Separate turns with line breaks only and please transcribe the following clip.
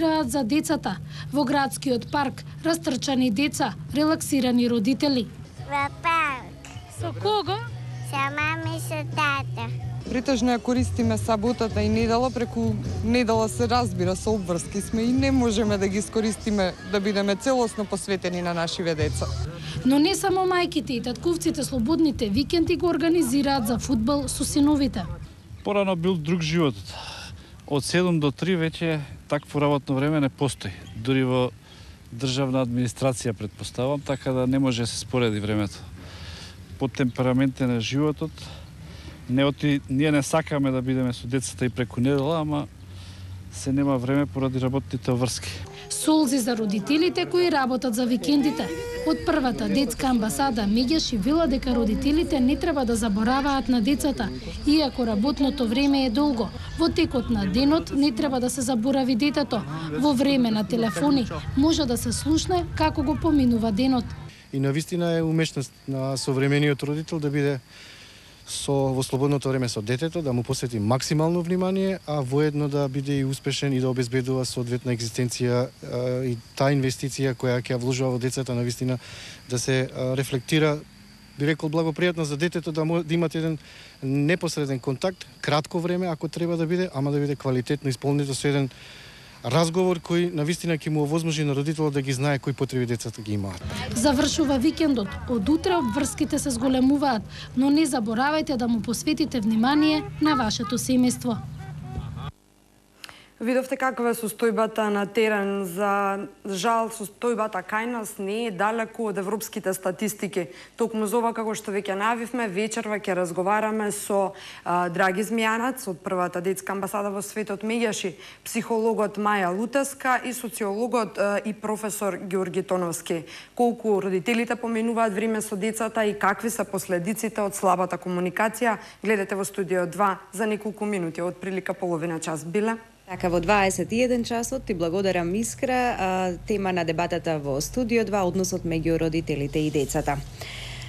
организираат за децата. Во градскиот парк растрчани деца, релаксирани родители.
Во парк.
Со кого?
Со мама и со тата.
Претежно ја користиме саботата и недела, преку недела се разбира, со обврски сме и не можеме да ги искористиме да бидеме целосно посветени на нашиве деца.
Но не само мајките и татковците слободните викенди го организираат за фудбал со синовите.
Порано бил друг животот. Од 7 до 3 веќе такво работно време не постои. Дури во државна администрација претпоставам, така да не може да се спореди времето. По темпераментите на животот, ние не сакаме да бидеме со децата и преку недела, ама се нема време поради работните врски.
Солзи за родителите кои работат за викендите. Од првата детска амбасада Меѓаши вела дека родителите не треба да забораваат на децата, иако работното време е долго. Во текот на денот не треба да се заборави детето. Во време на телефони може да се слушне како го поминува денот.
И навистина е умешност на современиот родител да биде во слободното време со детето, да му посвети максимално внимание, а воедно да биде и успешен и да обезбедува соодветна екзистенција и таа инвестиција која ќе ја вложува во децата навистина да се рефлектира, би рекол, благопријатно за детето, да имат еден непосреден контакт, кратко време ако треба да биде, ама да биде квалитетно исполнето со еден разговор кој навистина ќе му овозможи на родителот да ги знае кои потреби децата ги имаат.
Завршува викендот. Од утре обврските се зголемуваат, но не заборавајте да му посветите внимание на вашето семејство.
Видовте каква е состојбата на терен. За жал, состојбата кај нас не е далеку од европските статистики. Токму за ова, како што веќе најавивме, вечерва ќе разговараме со Драги Змијанац од првата детска амбасада во светот Меѓаши, психологот Маја Лутеска и социологот и професор Ѓорги Тоновски. Колку родителите поминуваат време со децата и какви се последиците од слабата комуникација, гледате во студио 2 за неколку минути, од прилика половина час. Биле?
Така, во 21 часот ти благодарам, Искра. Тема на дебатата во студио 2, односот меѓу родителите и децата.